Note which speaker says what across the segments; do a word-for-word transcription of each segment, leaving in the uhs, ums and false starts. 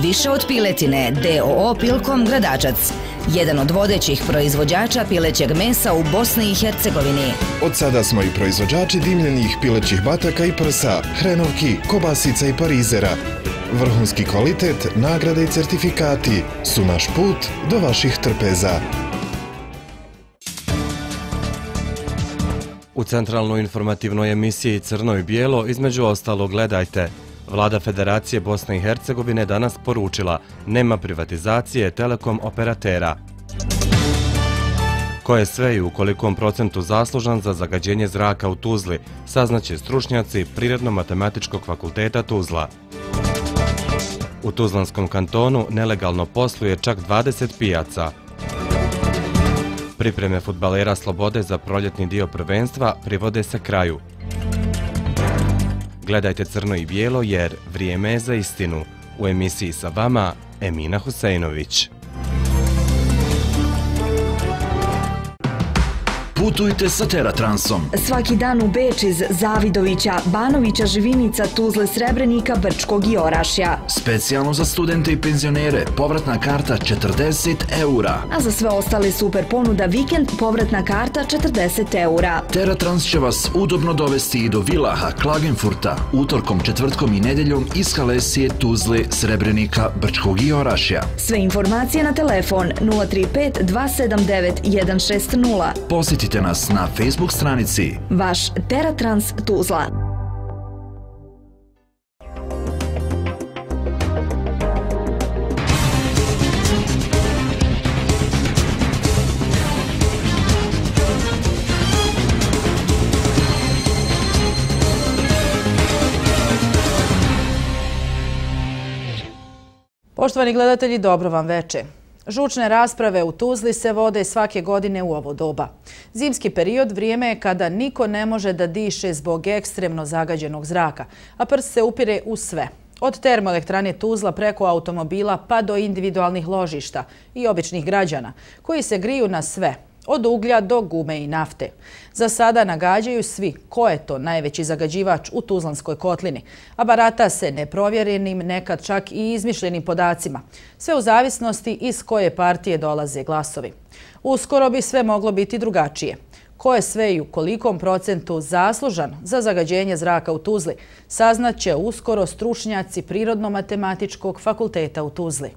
Speaker 1: Više od piletine, d o o Pilkom Gradačac, jedan od vodećih proizvođača pilećeg mesa u Bosni i Hercegovini.
Speaker 2: Od sada smo i proizvođači dimljenih pilećih bataka i prsa, hrenovki, kobasica i parizera. Vrhunski kvalitet, nagrade i certifikati su naš put do vaših trpeza.
Speaker 3: U centralnoj informativnoj emisiji Crno i bijelo između ostalog gledajte. Vlada Federacije Bosne i Hercegovine danas poručila nema privatizacije telekom operatera. Ko je sve i u kolikom procentu zaslužan za zagađenje zraka u Tuzli, saznaće stručnjaci Prirodno-matematičkog fakulteta Tuzla. U Tuzlanskom kantonu nelegalno posluje čak dvadeset pijaca. Pripreme fudbalera Slobode za proljetni dio prvenstva privode se kraju. Gledajte Crno i bijelo jer vrijeme je za istinu. U emisiji sa vama Emina Huseinović.
Speaker 4: Putujte sa Teratransom.
Speaker 5: Svaki dan u Beč iz Zavidovića, Banovića, Živinica, Tuzle, Srebrenika, Brčkog i Orašja.
Speaker 4: Specijalno za studente i penzionere, povratna karta četrdeset eura.
Speaker 5: A za sve ostale super ponuda vikend, povratna karta četrdeset eura.
Speaker 4: Teratrans će vas udobno dovesti i do Vilaha, Klagenfurta, utorkom, četvrtkom i nedeljom iz Halesije, Tuzle, Srebrenika, Brčkog i Orašja.
Speaker 5: Sve informacije na telefon nula tri pet dva sedam devet jedan šest nula.
Speaker 4: Posjetite nas na Facebook stranici.
Speaker 5: Vaš Teratrans Tuzla.
Speaker 6: Poštovani gledatelji, dobro vam veče. Žučne rasprave u Tuzli se vode svake godine u ovo doba. Zimski period vrijeme je kada niko ne može da diše zbog ekstremno zagađenog zraka, a prst se upire u sve. Od termoelektrane Tuzla preko automobila pa do individualnih ložišta i običnih građana, koji se griju na sve, od uglja do gume i nafte. Za sada nagađaju svi ko je to najveći zagađivač u Tuzlanskoj kotlini, a barata se neprovjerenim, nekad čak i izmišljenim podacima, sve u zavisnosti iz koje partije dolaze glasovi. Uskoro bi sve moglo biti drugačije. Ko je sve i u kolikom procentu zaslužan za zagađenje zraka u Tuzli, saznaće uskoro stručnjaci Prirodno-matematičkog fakulteta u Tuzli.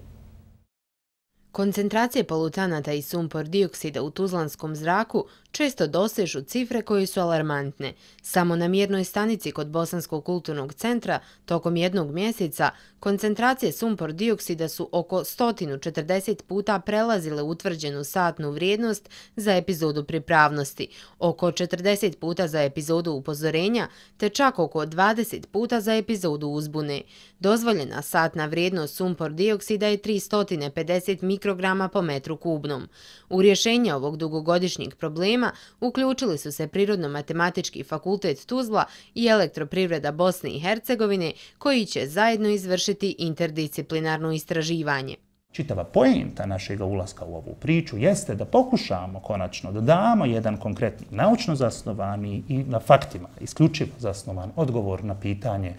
Speaker 7: Koncentracije polutanata i sumpor dioksida u tuzlanskom zraku često dosežu cifre koje su alarmantne. Samo na mjernoj stanici kod Bosanskog kulturnog centra tokom jednog mjeseca koncentracije sumpor dioksida su oko sto četrdeset puta prelazile utvrđenu satnu vrijednost za epizodu pripravnosti, oko četrdeset puta za epizodu upozorenja, te čak oko dvadeset puta za epizodu uzbune. Dozvoljena satna vrijednost sumpor dioksida je tristo pedeset mikrograma po metru kubnom. U rješenje ovog dugogodišnjeg problema uključili su se Prirodno-matematički fakultet Tuzla i Elektroprivreda Bosne i Hercegovine, koji će zajedno izvršiti interdisciplinarno istraživanje.
Speaker 8: Čitava poenta našeg ulaska u ovu priču jeste da pokušamo konačno da damo jedan konkretni naučno zasnovani i na faktima isključivo zasnovan odgovor na pitanje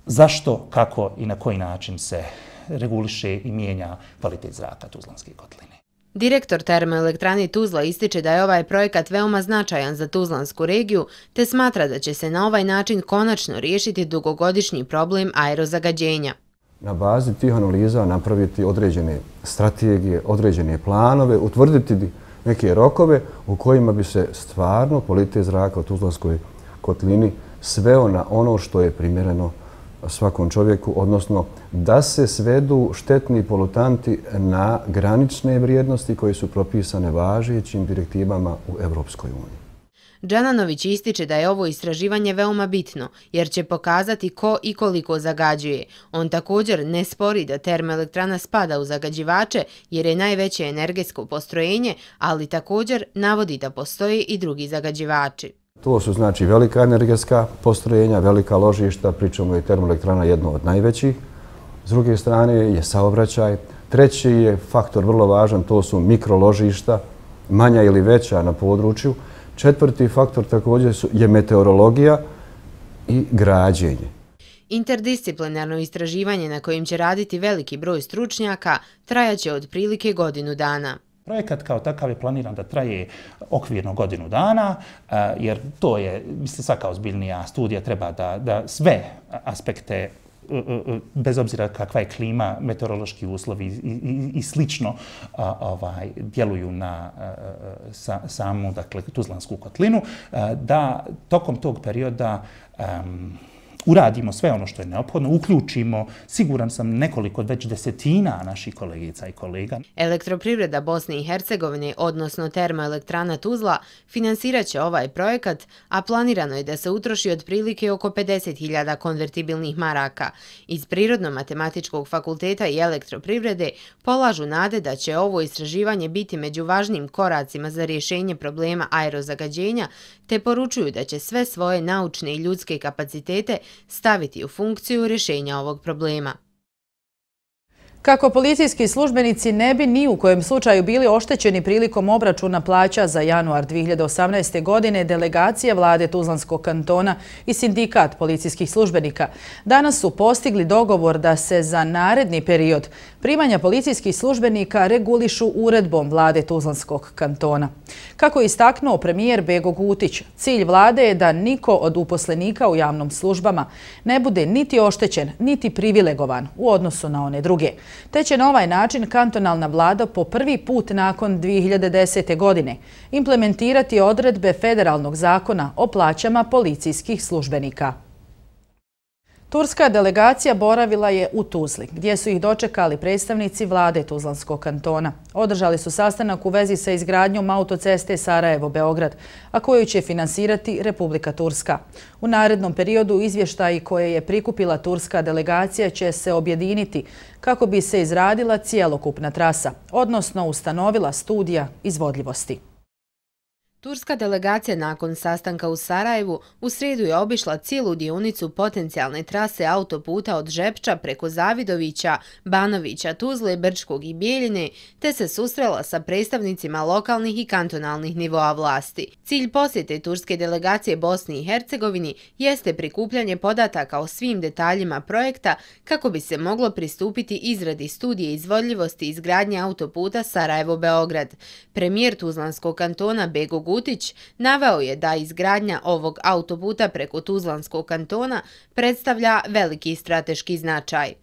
Speaker 8: zašto, kako i na koji način se reguliše i mijenja kvalitet zraka Tuzlanske kotline.
Speaker 7: Direktor termoelektrane Tuzla ističe da je ovaj projekat veoma značajan za Tuzlansku regiju, te smatra da će se na ovaj način konačno riješiti dugogodišnji problem aerozagađenja.
Speaker 9: Na bazi tih analiza napraviti određene strategije, određene planove, utvrditi neke rokove u kojima bi se stvarno kvalitet zraka u Tuzlanskoj kotlini sveo na ono što je primjereno svakom čovjeku, odnosno da se svedu štetni polutanti na granične vrijednosti koje su propisane važećim direktivama u Evropskoj uniji.
Speaker 7: Džananović ističe da je ovo istraživanje veoma bitno, jer će pokazati ko i koliko zagađuje. On također ne spori da termoelektrana spada u zagađivače, jer je najveće energetsko postrojenje, ali također navodi da postoje i drugi zagađivači.
Speaker 9: To su znači velika energetska postrojenja, velika ložišta, pričamo je termoelektrana jedno od najvećih. S druge strane je saobraćaj. Treći je faktor vrlo važan, to su mikroložišta, manja ili veća na području. Četvrti faktor također je meteorologija i građenje.
Speaker 7: Interdisciplinarno istraživanje na kojim će raditi veliki broj stručnjaka trajaće otprilike godinu dana.
Speaker 8: Projekat kao takav je planiran da traje okvirno godinu dana, jer to je, mislim, svaka ozbiljnija studija treba da, da sve aspekte, bez obzira kakva je klima, meteorološki uslovi i, i, i slično, a, ovaj, djeluju na a, sa, samu, dakle, Tuzlansku kotlinu, a, da tokom tog perioda um, uradimo sve ono što je neophodno, uključimo, siguran sam, nekoliko već desetina naših kolegica i kolega.
Speaker 7: Elektroprivreda Bosne i Hercegovine, odnosno termoelektrana Tuzla, finansirat će ovaj projekat, a planirano je da se utroši otprilike oko pedeset hiljada konvertibilnih maraka. Iz Prirodno-matematičkog fakulteta i elektroprivrede polažu nade da će ovo istraživanje biti među važnim koracima za rješenje problema aerozagađenja, te poručuju da će sve svoje naučne i ljudske kapacitete staviti u funkciju rješenja ovog problema.
Speaker 6: Kako policijski službenici ne bi ni u kojem slučaju bili oštećeni prilikom obračuna plaća za januar dvije hiljade osamnaeste. godine, delegacija vlade Tuzlanskog kantona i sindikat policijskih službenika danas su postigli dogovor da se za naredni period primanja policijskih službenika regulišu uredbom vlade Tuzlanskog kantona. Kako je istaknuo premijer Bego Gutić, cilj vlade je da niko od uposlenika u javnom službama ne bude niti oštećen, niti privilegovan u odnosu na one druge, te će na ovaj način kantonalna vlada po prvi put nakon dvije hiljade desete. godine implementirati odredbe federalnog zakona o plaćama policijskih službenika. Turska delegacija boravila je u Tuzli, gdje su ih dočekali predstavnici vlade Tuzlanskog kantona. Održali su sastanak u vezi sa izgradnjom autoceste Sarajevo-Beograd, a koju će finansirati Republika Turska. U narednom periodu izvještaji koje je prikupila turska delegacija će se objediniti kako bi se izradila cijelokupna trasa, odnosno ustanovila studija izvodljivosti.
Speaker 7: Turska delegacija nakon sastanka u Sarajevu u srijedu je obišla cijelu dionicu potencijalne trase autoputa od Žepča preko Zavidovića, Banovića, Tuzle, Brčkog i Bijeljine, te se susrela sa predstavnicima lokalnih i kantonalnih nivoa vlasti. Cilj posjete turske delegacije Bosni i Hercegovini jeste prikupljanje podataka o svim detaljima projekta kako bi se moglo pristupiti izradi studije izvodljivosti izgradnje autoputa Sarajevo-Beograd. Premijer Tuzlanskog kantona Bego Gutić naveo je da izgradnja ovog autoputa preko Tuzlanskog kantona predstavlja veliki strateški značaj.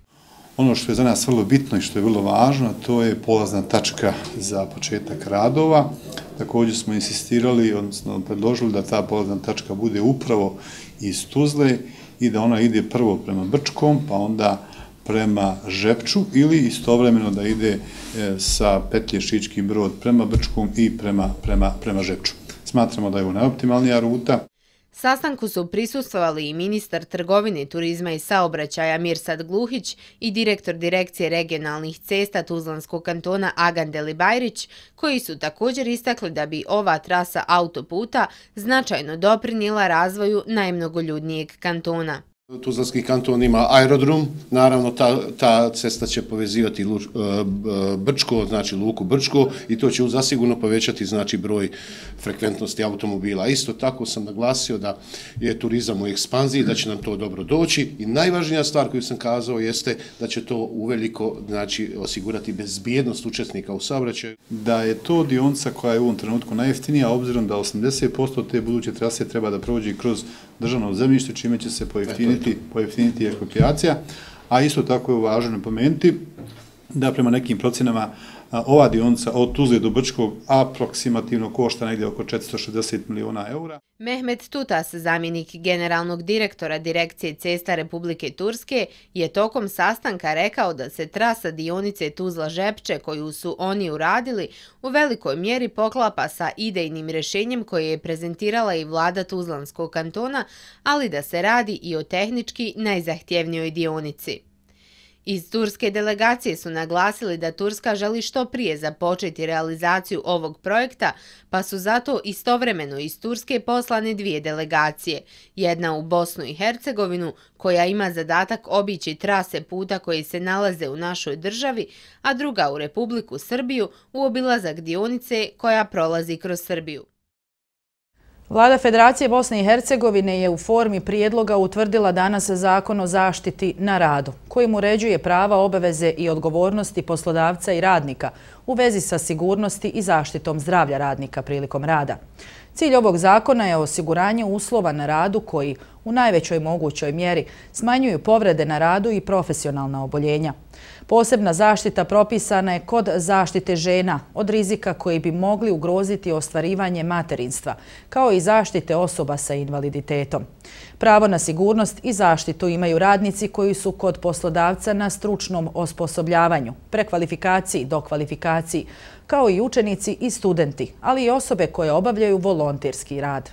Speaker 10: Ono što je za nas vrlo bitno i što je vrlo važno, to je polazna tačka za početak radova. Također smo insistirali, odnosno predložili da ta polazna tačka bude upravo iz Tuzle i da ona ide prvo prema Brčkom, pa onda prema Žepču ili istovremeno da ide sa petlje Šički Brod prema Brčkom i prema, prema, prema Žepču. Smatramo da je ovo najoptimalnija ruta.
Speaker 7: Sastanku su prisustvovali i ministar trgovine, turizma i saobraćaja Mirsad Gluhić i direktor direkcije regionalnih cesta Tuzlanskog kantona Agan Delibajrić, koji su također istakli da bi ova trasa autoputa značajno doprinijela razvoju najmnogoljudnijeg kantona.
Speaker 11: Tuzlanski kanton ima aerodrom, naravno ta, ta cesta će povezivati Luč, Brčko, znači luku Brčko i to će zasigurno povećati znači broj frekventnosti automobila. Isto tako sam naglasio da je turizam u ekspanziji, da će nam to dobro doći i najvažnija stvar koju sam kazao jeste da će to uveliko znači, osigurati bezbjednost učesnika u saobraćaju.
Speaker 10: Da je to dionica koja je u ovom trenutku najjeftinija, obzirom da osamdeset posto te buduće trase treba da prođe kroz državno zemljište, čime će se pojeftiniti, pojeftiniti eksproprijacija, a isto tako je važno napomenuti da prema nekim procenama ova dionica od Tuzle do Brčkog aproksimativno košta negdje oko četiristo šezdeset miliona eura.
Speaker 7: Mehmet Tutas, zamjenik generalnog direktora Direkcije cesta Republike Turske, je tokom sastanka rekao da se trasa dionice Tuzla-Žepče koju su oni uradili u velikoj mjeri poklapa sa idejnim rješenjem koje je prezentirala i vlada Tuzlanskog kantona, ali da se radi i o tehnički najzahtjevnijoj dionici. Iz turske delegacije su naglasili da Turska želi što prije započeti realizaciju ovog projekta, pa su zato istovremeno iz Turske poslane dvije delegacije. Jedna u Bosnu i Hercegovinu, koja ima zadatak obići trase puta koje se nalaze u našoj državi, a druga u Republiku Srbiju u obilazak dionice koja prolazi kroz Srbiju.
Speaker 6: Vlada Federacije Bosne i Hercegovine je u formi prijedloga utvrdila danas Zakon o zaštiti na radu, kojim uređuje prava, obaveze i odgovornosti poslodavca i radnika u vezi sa sigurnosti i zaštitom zdravlja radnika prilikom rada. Cilj ovog zakona je osiguranje uslova na radu koji u najvećoj mogućoj mjeri smanjuju povrede na radu i profesionalna oboljenja. Posebna zaštita propisana je kod zaštite žena od rizika koji bi mogli ugroziti ostvarivanje materinstva, kao i zaštite osoba sa invaliditetom. Pravo na sigurnost i zaštitu imaju radnici koji su kod poslodavca na stručnom osposobljavanju, prekvalifikaciji, dokvalifikaciji, kao i učenici i studenti, ali i osobe koje obavljaju volonterski rad.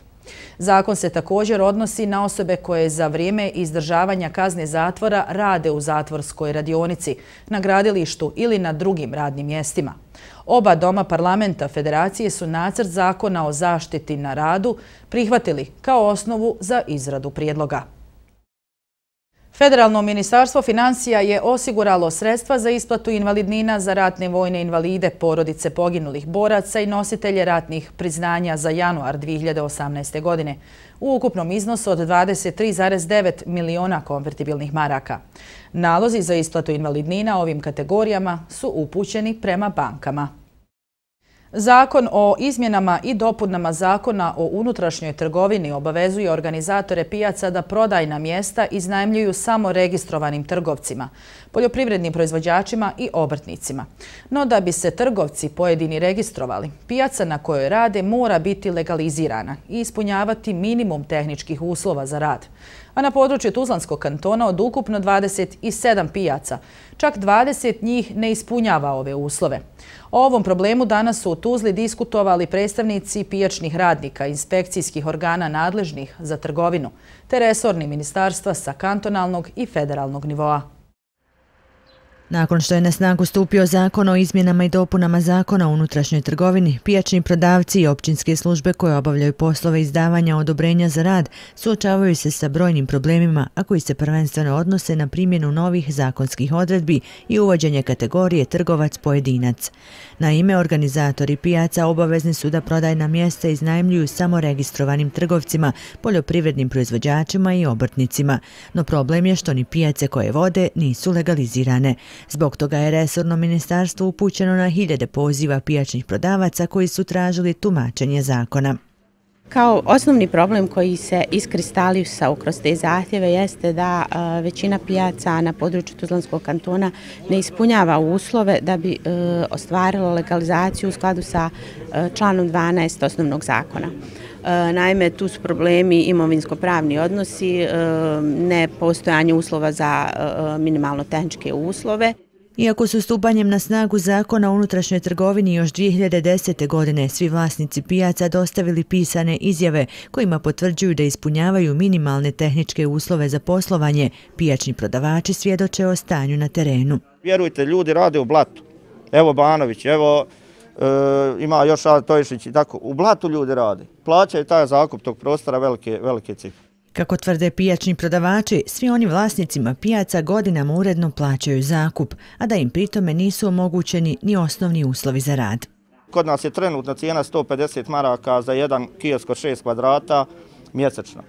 Speaker 6: Zakon se također odnosi na osobe koje za vrijeme izdržavanja kazne zatvora rade u zatvorskoj radionici, na gradilištu ili na drugim radnim mjestima. Oba doma parlamenta Federacije su nacrt zakona o zaštiti na radu prihvatili kao osnovu za izradu prijedloga. Federalno ministarstvo financija je osiguralo sredstva za isplatu invalidnina za ratne vojne invalide, porodice poginulih boraca i nositelje ratnih priznanja za januar dvije hiljade osamnaeste. godine u ukupnom iznosu od dvadeset tri zarez devet miliona konvertibilnih maraka. Nalozi za isplatu invalidnina ovim kategorijama su upućeni prema bankama. Zakon o izmjenama i dopunama Zakona o unutrašnjoj trgovini obavezuje organizatore pijaca da prodajna mjesta iznajmljuju samo registrovanim trgovcima, poljoprivrednim proizvođačima i obrtnicima. No da bi se trgovci pojedini registrovali, pijaca na kojoj rade mora biti legalizirana i ispunjavati minimum tehničkih uslova za rad. A na području Tuzlanskog kantona od ukupno dvadeset sedam pijaca, čak dvadeset njih ne ispunjava ove uslove. O ovom problemu danas su u Tuzli diskutovali predstavnici pijačnih radnika, inspekcijskih organa nadležnih za trgovinu, te resorni ministarstva sa kantonalnog i federalnog nivoa.
Speaker 12: Nakon što je na snagu stupio zakon o izmjenama i dopunama Zakona o unutrašnjoj trgovini, pijačni prodavci i općinske službe koje obavljaju poslove izdavanja odobrenja za rad suočavaju se sa brojnim problemima, a koji se prvenstveno odnose na primjenu novih zakonskih odredbi i uvođenje kategorije trgovac-pojedinac. Naime, organizatori pijaca obavezni su da prodajna mjesta iznajmljuju samo registrovanim trgovcima, poljoprivrednim proizvođačima i obrtnicima. No problem je što ni pijace koje vode nisu legalizirane. Zbog toga je resorno ministarstvo upućeno na hiljade poziva pijačnih prodavaca koji su tražili tumačenje zakona.
Speaker 13: Kao osnovni problem koji se iskristalisao kroz te zahtjeve jeste da većina pijaca na području Tuzlanskog kantona ne ispunjava uslove da bi ostvarilo legalizaciju u skladu sa članom dvanaest osnovnog zakona. Naime, tu su problemi imovinsko-pravni odnosi, nepostojanje uslova za minimalno tehničke uslove.
Speaker 12: Iako su stupanjem na snagu Zakona o unutrašnjoj trgovini još dvije hiljade desete. godine svi vlasnici pijaca dostavili pisane izjave kojima potvrđuju da ispunjavaju minimalne tehničke uslove za poslovanje, pijačni prodavači svjedoče o stanju na terenu.
Speaker 14: Vjerujte, ljudi rade u blatu. Evo Banović, evo e, ima još Tojišić i tako. U blatu ljudi rade. Plaćaju taj zakup tog prostora velike, velike cifre.
Speaker 12: Kako tvrde pijačni prodavači, svi oni vlasnicima pijaca godinama uredno plaćaju zakup, a da im pritome nisu omogućeni ni osnovni uslovi za rad.
Speaker 14: Kod nas je trenutna cijena sto pedeset maraka za jedan kiosk od šest kvadrata mjesečno.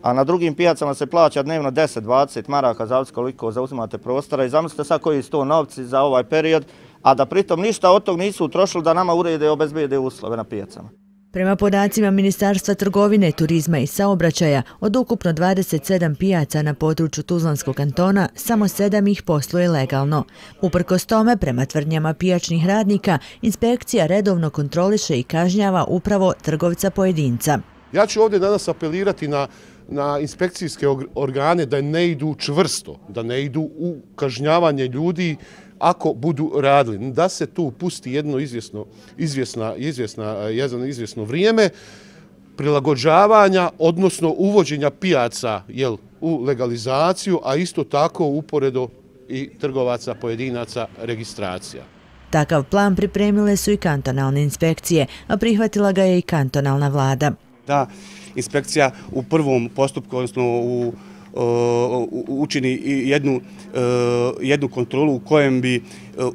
Speaker 14: A na drugim pijacama se plaća dnevno deset do dvadeset maraka, zavisi koliko zauzimate prostora. I zamislite sad koji su to novci za ovaj period, a da pritom ništa od tog nisu utrošili da nama urede i obezbijede uslove na pijacama.
Speaker 12: Prema podacima Ministarstva trgovine, turizma i saobraćaja, od ukupno dvadeset sedam pijaca na području Tuzlanskog kantona, samo sedam ih posluje legalno. Uprkos tome, prema tvrdnjama pijačnih radnika, inspekcija redovno kontroliše i kažnjava upravo trgovca pojedinca.
Speaker 15: Ja ću ovdje danas apelirati na na inspekcijske organe da ne idu čvrsto, da ne idu u kažnjavanje ljudi ako budu radili, da se tu pusti jedno izvjesno, izvjesna, izvjesna, jedno izvjesno vrijeme prilagođavanja, odnosno uvođenja pijaca jel, u legalizaciju, a isto tako uporedo i trgovaca pojedinaca registracija.
Speaker 12: Takav plan pripremile su i kantonalne inspekcije, a prihvatila ga je i kantonalna vlada.
Speaker 16: Da inspekcija u prvom postupku, odnosno u učini jednu, jednu kontrolu u kojem bi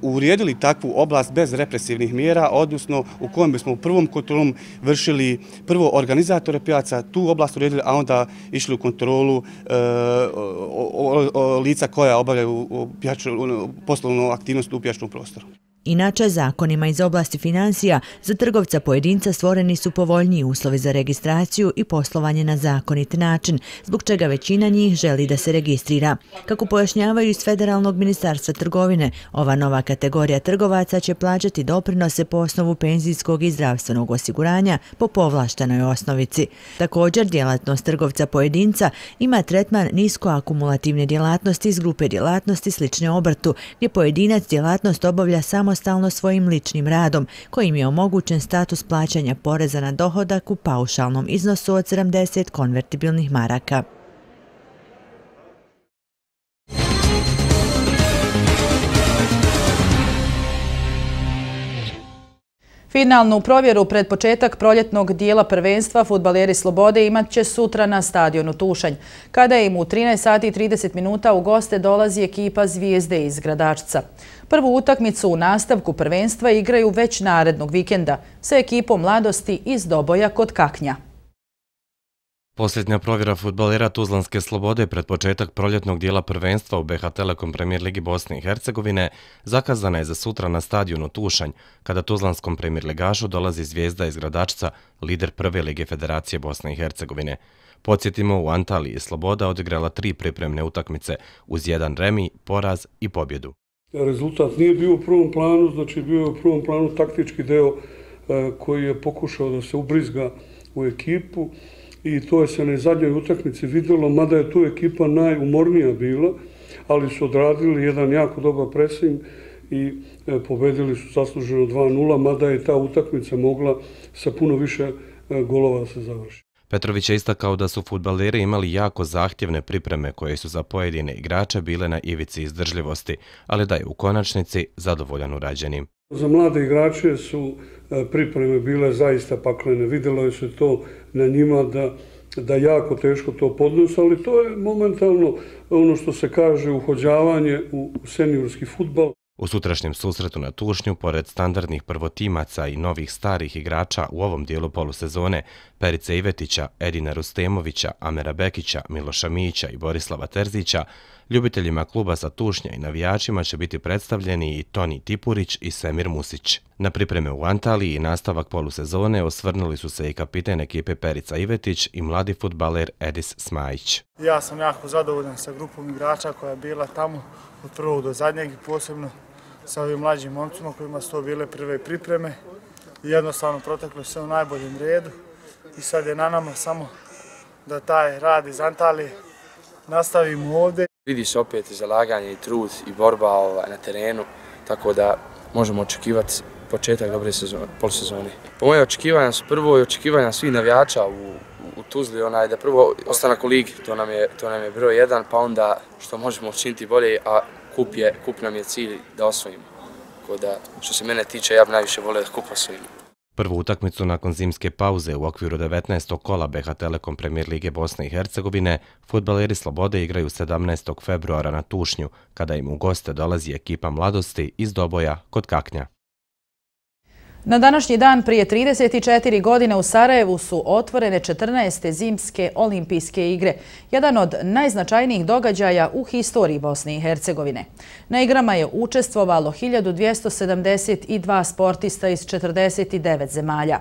Speaker 16: uredili takvu oblast bez represivnih mjera, odnosno u kojem bismo u prvom kontrolom vršili prvo organizatore pijaca, tu oblast uredili, a onda išli u kontrolu lica koja obavljaju poslovnu aktivnost u pijačnom prostoru.
Speaker 12: Inače, zakonima iz oblasti financija za trgovca pojedinca stvoreni su povoljniji uslovi za registraciju i poslovanje na zakonit način, zbog čega većina njih želi da se registrira. Kako pojašnjavaju iz Federalnog ministarstva trgovine, ova nova kategorija trgovaca će plaćati doprinose po osnovu penzijskog i zdravstvenog osiguranja po povlaštenoj osnovici. Također, djelatnost trgovca pojedinca ima tretman niskoakumulativne djelatnosti iz grupe djelatnosti slične obrtu, gdje pojedinac djelatnost obavlja samo samostalno svojim ličnim radom, kojim je omogućen status plaćanja poreza na dohodak u paušalnom iznosu od sedamdeset konvertibilnih maraka.
Speaker 6: Finalnu provjeru pred početak proljetnog dijela prvenstva fudbaleri Slobode imat će sutra na stadionu Tušanj, kada im u trinaest sati i trideset minuta u goste dolazi ekipa Zvijezde iz Gradačca. Prvu utakmicu u nastavku prvenstva igraju već narednog vikenda sa ekipom Mladosti iz Doboja kod Kaknja.
Speaker 3: Posljednja provjera fudbalera Tuzlanske Slobode pred početak proljetnog dijela prvenstva u B H Telekom Premier Ligi Bosne i Hercegovine zakazana je za sutra na stadionu Tušanj, kada Tuzlanskom premier ligašu dolazi Zvijezda iz Gradačca, lider prve lige Federacije Bosne i Hercegovine. Podsjetimo, u Antaliji Sloboda odigrala tri pripremne utakmice uz jedan remi, poraz i pobjedu.
Speaker 17: Rezultat nije bio u prvom planu, znači bio je u prvom planu taktički deo koji je pokušao da se ubrizga u ekipu. I to je se na zadnjoj utakmici vidjelo, mada je tu ekipa najumornija bila, ali su odradili jedan jako dobar pressing i pobedili su zasluženo dva nula, mada je ta utakmica mogla sa puno više golova da se završi.
Speaker 3: Petrović je istakao da su fudbaleri imali jako zahtjevne pripreme koje su za pojedine igrače bile na ivici izdržljivosti, ali da je u konačnici zadovoljan urađenim.
Speaker 17: Za mlade igrače su pripreme bile zaista paklene. Vidjelo se to na njima da, da jako teško to podnose, ali to je momentalno ono što se kaže uhođavanje u seniorski fudbal.
Speaker 3: U sutrašnjem susretu na Tušnju, pored standardnih prvotimaca i novih starih igrača u ovom dijelu polusezone, Perice Ivetića, Edina Rustemovića, Amera Bekića, Miloša Mića i Borislava Terzića, ljubiteljima kluba sa Tušnja i navijačima će biti predstavljeni i Toni Tipurić i Semir Musić. Na pripreme u Antaliji i nastavak polusezone osvrnuli su se i kapiten ekipe Perica Ivetić i mladi fudbaler Edis Smajić.
Speaker 18: Ja sam jako zadovoljan sa grupom igrača koja je bila tamo od prvog do zadnjeg i posebno sa ovim mlađim momcima kojima su to bile prve pripreme. Jednostavno proteklo se u najboljem redu i sad je na nama samo da taj rad iz Antalije nastavimo ovdje.
Speaker 19: Vidi se opet i zalaganje i trud i borba na terenu, tako da možemo očekivati početak dobre polusezone. Po moje očekivanja su prvo i očekivanja svih navijača u, u Tuzli, onaj da prvo ostanak u ligi, to nam je, to nam je broj jedan, pa onda što možemo učiniti bolje, a kup, je, kup nam je cilj da osvojimo. Tako da, što se mene tiče, ja bi najviše volio da kup osvojimo.
Speaker 3: Prvu utakmicu nakon zimske pauze u okviru devetnaestog kola B H Telekom Premier Lige Bosne i Hercegovine, fudbaleri Slobode igraju sedamnaestog februara na Tušnju, kada im u goste dolazi ekipa Mladosti iz Doboja kod Kaknja.
Speaker 6: Na današnji dan prije trideset četiri godine u Sarajevu su otvorene četrnaeste zimske olimpijske igre, jedan od najznačajnijih događaja u historiji Bosne i Hercegovine. Na igrama je učestvovalo hiljadu dvjesto sedamdeset dva sportista iz četrdeset devet zemalja.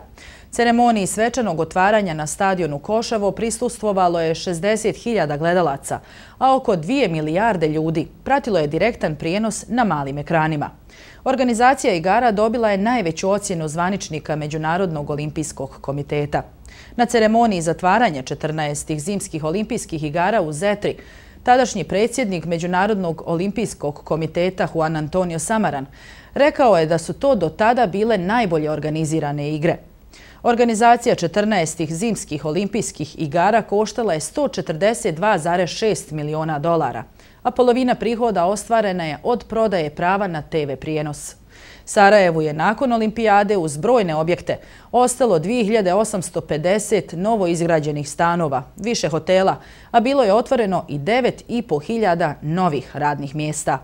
Speaker 6: Ceremoniji svečanog otvaranja na stadionu Koševo prisustvovalo je šezdeset hiljada gledalaca, a oko dvije milijarde ljudi pratilo je direktan prijenos na malim ekranima. Organizacija igara dobila je najveću ocjenu zvaničnika Međunarodnog olimpijskog komiteta. Na ceremoniji zatvaranja četrnaestih zimskih olimpijskih igara u Zetri, tadašnji predsjednik Međunarodnog olimpijskog komiteta Juan Antonio Samaran rekao je da su to do tada bile najbolje organizirane igre. Organizacija četrnaestih zimskih olimpijskih igara koštala je sto četrdeset dva zarez šest miliona dolara, a polovina prihoda ostvarena je od prodaje prava na te ve prijenos. Sarajevu je nakon olimpijade uz brojne objekte ostalo dvije hiljade osamsto pedeset novo izgrađenih stanova, više hotela, a bilo je otvoreno i devet i po hiljada novih radnih mjesta.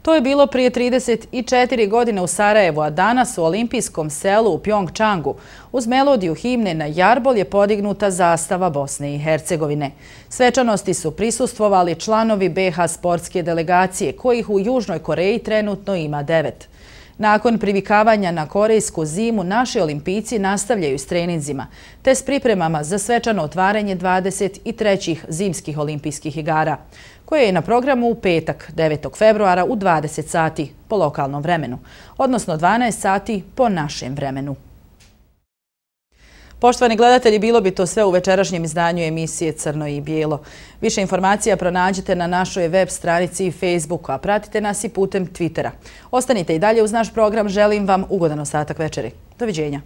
Speaker 6: To je bilo prije trideset četiri godine u Sarajevu, a danas u olimpijskom selu u Pjongčangu uz melodiju himne na jarbol je podignuta zastava Bosne i Hercegovine. Svečanosti su prisustvovali članovi be ha sportske delegacije, kojih u Južnoj Koreji trenutno ima devet. Nakon privikavanja na korejsku zimu, naši olimpijci nastavljaju s treninzima, te s pripremama za svečano otvaranje dvadeset trećih zimskih olimpijskih igara, koje je na programu u petak, devetog februara u dvadeset sati po lokalnom vremenu, odnosno dvanaest sati po našem vremenu. Poštovani gledatelji, bilo bi to sve u večerašnjem izdanju emisije Crno i bijelo. Više informacija pronađite na našoj web stranici i Facebooku, a pratite nas i putem Twittera. Ostanite i dalje uz naš program, želim vam ugodan ostatak večeri. Doviđenja.